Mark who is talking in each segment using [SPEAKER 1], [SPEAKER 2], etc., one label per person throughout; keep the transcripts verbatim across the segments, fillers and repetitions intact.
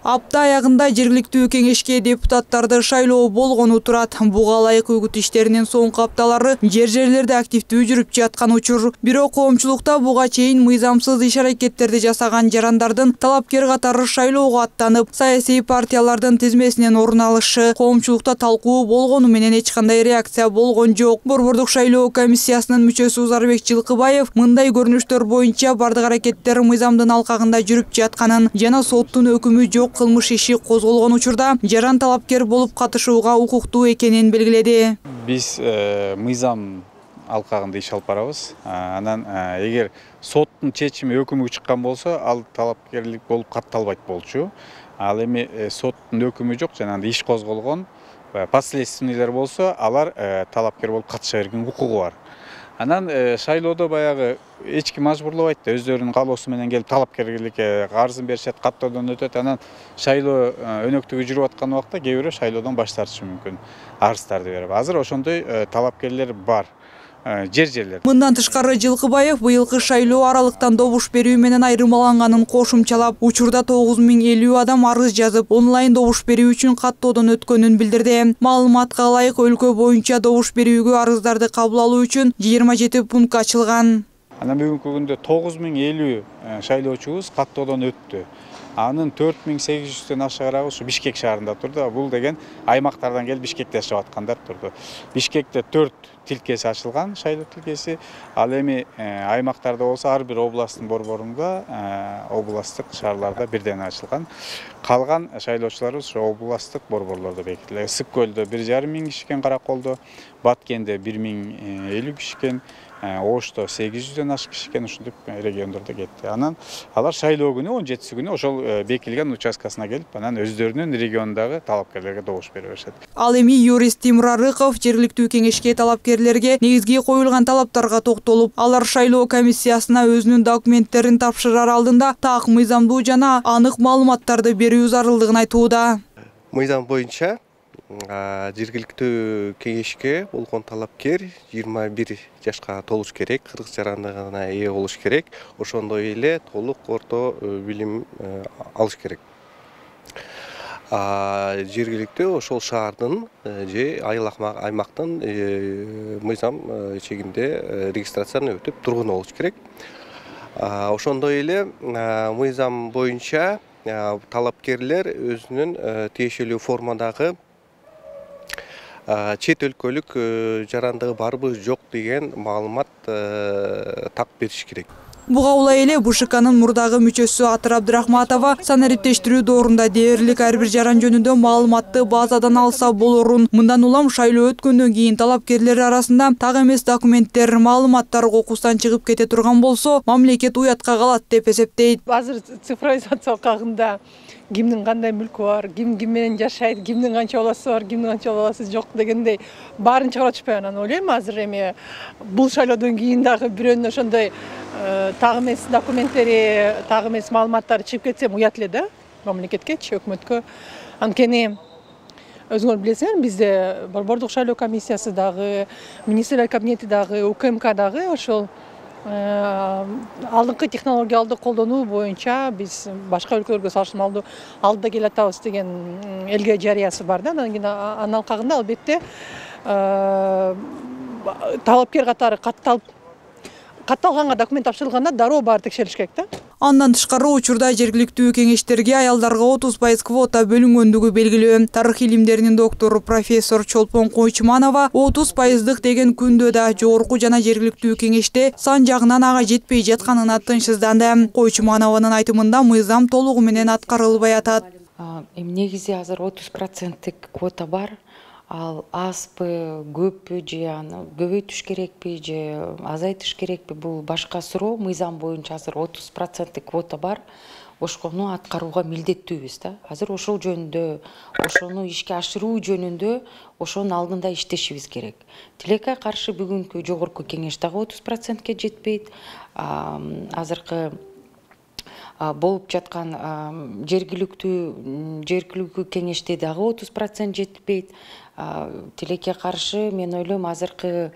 [SPEAKER 1] Апта аягында жергиликтүү кеңешке депутаттарды шайлоо болгону турат. Буга ылайык үгүт иштеринин соңку апталары жер-жерлерде активдүү жүрүп жаткан учур. Бирок коомчулукта буга чейин мыйзамсыз иш-аракеттерди жасаган жарандардын талапкер катары шайлоого аттанып, саясий партиялардын тизмесинен орун алышы коомчулукта талкуу болгону менен эч кандай реакция болгон жок. Борбордук шайлоо комиссиясынын мүчөсү Узарбек Жылкыбаев мындай көрүнүштөр боюнча бардык аракеттер мыйзамдын алкагында жүрүп жатканын жана соттун өкүмү жок кылмыш иши козголгон учурда жаран талапкер болуп катышууга укуктуу экенин белгиледи.
[SPEAKER 2] Биз мыйзам алкагында иш алып барабыз. Анан эгер соттун чечими өкүмү чыккан болсо, ал талапкерлик болуп катталбайт болчу. Ал эми соттун өкүмү жок, жанагындай иш козголгон последственныйлар болсо, алар талапкер болуп катыша берген укугу бар. Анан шайлоодо баягы эч ким мажбурлабайт да, өздөрүнүн каалоосу менен келип талапкерликке арызын беришет, каттоодон өтөт. Анан шайлоо өнөктүгү жүрүп аткан убакта кээ бирөө шайлоодон баш тартышы мүмкүн, арыздарды берип. Азыр ошондой талапкерлер бар. Жер-жерлер.
[SPEAKER 1] Мындан тышкары Жылкыбаев быйылкы шайлоо аралыктан добуш берүү менен айырмаланганын кошумчалап, учурда тогуз миң элүү адам арыз жазып, онлайн добуш берүү үчүн каттоодон өткөнүн билдирди. Маалыматка ылайык өлкө боюнча добуш берүүгө арыздарды кабыл алуу үчүн жыйырма жети пункт ачылган.
[SPEAKER 2] Анан бүгүнкү күндө тогуз миң элүү шайлоочубуз каттоодон өттү. Анын төрт миң сегиз жүздөн ашыгыраагы ушу Бишкек шаарында турду. Бул деген аймактардан келип Бишкекте жашап аткандар турду. Бишкекте төрт тилкеси ачылган, шайлоо тилкеси. Ал эми аймактарда болсо ар бир областтын борборунда, областтык шаарларда бирден ачылган. Калган шайлоочуларыбыз ошо областтык борборлордо бекитилген. Ысык көлдө бир жарым миң киши экен, Караколдо, Баткенде бир миң элүү киши экен, Ошто сегиз жүздөн ашык киши экен, ушинтип региондордо кетти. Анан алар шайлоо күнү он жетиси күнү ошол бекилген участкасына келип, анан өздөрүнүн региондагы талапкерлерге добуш бере беришет.
[SPEAKER 1] Ал эми юрист Тимур Арыков жергиликтүү кеңешке талапкерлерге негизги коюлган талаптарга токтолуп, алар шайлоо комиссиясына өзүнүн документтерин тапшырар алдында так мыйзамдуу жана анык маалыматтарды берүү зарылдыгын айтууда.
[SPEAKER 3] Мыйзам боюнча жергиликтүү кеңешке болгон талапкер жыйырма бир жашка толуш керек, кыргыз жарандыгына ээ болуш керек, ошондой эле толук орто билим алыш керек. Жергиликтүү ошол шаардын же аймактын мыйзам чегинде регистрацияны өтүп тургуну болуш керек. Ошондой эле мыйзам боюнча талапкерлер өзүнүн тиешелүү формадагы чет өлкөлүк жарандыгы барбы жок деген маалымат так бериш керек.
[SPEAKER 1] Буга улай эле БШКнын мурдагы мүчөсү Атыр Абдрахматова санариптештирүү доорунда дээрлик ар бир жаран жөнүндө маалыматты базадан алса болорун, мындан улам шайлоо өткөндөн кийин талапкерлер арасында так эмес документтер, маалыматтар кокусунан чыгып кете турган болсо, мамлекет уятка калат деп эсептейт.
[SPEAKER 4] Азыр цифровизация кагында кимдин кандай мүлкү бар, ким ким менен жашайт, кимдин канча баласы бар, кимдин канча баласы жок дегендей баарын чыгарып атышпайбы. Анан ойлойм, азыр эми бул шайлоодон кийин дагы бирөөнүн ошондой так эмес документтери, так эмес маалыматтары чыгып кетсе уят эле да мамлекеткечи, өкмөткө. Анткени өзүңөр билесиңер, бизде борбордук шайлоо комиссиясы дагы, министрлер кабинети дагы, УКМК дагы ошол алдыңкы технологияларды колдонуу боюнча биз башка өлкөлөргө салыштырмалуу алдыда келе атабыз деген элге жарыясы бар да. Анан кийин анын алкагында албетте талапкер катары катталып катталганга документ тапшырылганда дароо баары текшерилиш керек да.
[SPEAKER 1] Андан тышкары учурда жергиликтүү кеңештерге аялдарга отуз пайыз квота бөлүнгөндүгү белгилүү. Тарых илимдеринин доктору профессор Чолпон Койчуманова отуз пайыздык деген күндө да жогорку жана жергиликтүү кеңеште сан жагынан ага жетпей жатканына тынчсызданды. Койчуманованын айтымында мыйзам толугу менен аткарылбай атат.
[SPEAKER 5] Эми негизи азыр отуз проценттик квота бар. Ал азбы, көппү же аны көбөйтүш керекпи же азайтыш керекпи, бул башка суроо. Мыйзам боюнча азыр отуз проценттик квота бар. Ошкону аткарууга милдеттүүбүз да. Азыр ошол жөнүндө, ошону ишке ашыруу жөнүндө ошонун алдында иштешибиз керек. Тилекке каршы бүгүнкү жогорку кеңеш дагы отуз процентке жетпейт. Азыркы болуп жаткан жергиликтүү жергиликтүү кеңеште дагы отуз процент жетпейт. Тилекке каршы мен ойлойм, азыркы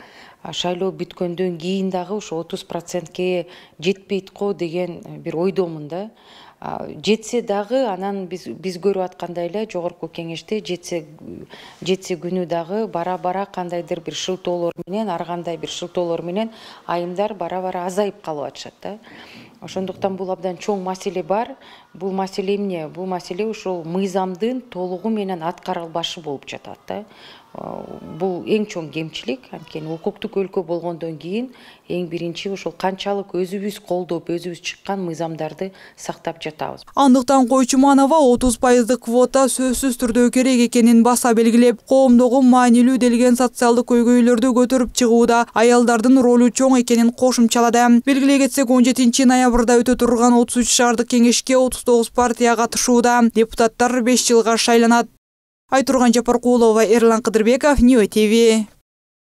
[SPEAKER 5] шайлоо бүткөндөн кийин дагы ушу отуз процентке жетпейт го деген бир ойдомун да. жетсе дагы анан биз биз көрүп аткандай эле жогорку кеңеште жетсе жетсе күнү дагы бара бара кандайдыр бир шылтоолор менен ар кандай бир шылтоолор менен айымдар бара бара азайып калып атышат да. Ошондуктан бул абдан чоң маселе бар. Бул маселе эмне? Бул маселе ушул мыйзамдын толугу менен аткарылбашы болуп жатат да. Бул эң чоң кемчилик. Анткени укуктук өлкө болгондон кийин эң биринчи ушул канчалык өзүбүз колдоп, өзүбүз чыккан мыйзамдарды сактап жатабыз.
[SPEAKER 1] Андыктан Койчуманова отуз пайыздык квота сөзсүз түрдө керек экенин баса белгилеп, коомдогу маанилүү делген социалдык көйгөйлөрдү көтөрүп чыгууда аялдардын ролу чоң экенин кошумчалады. Белгилей кетсек, он жетинчи ноябрда өтө турган отуз үч шаардык кеңешке отуз тогуз партия катышууда. Депутаттар беш жылга шайланат. Айтурган Жапаркулова, Эрлан Кыдырбеков, Ньюс ТВ.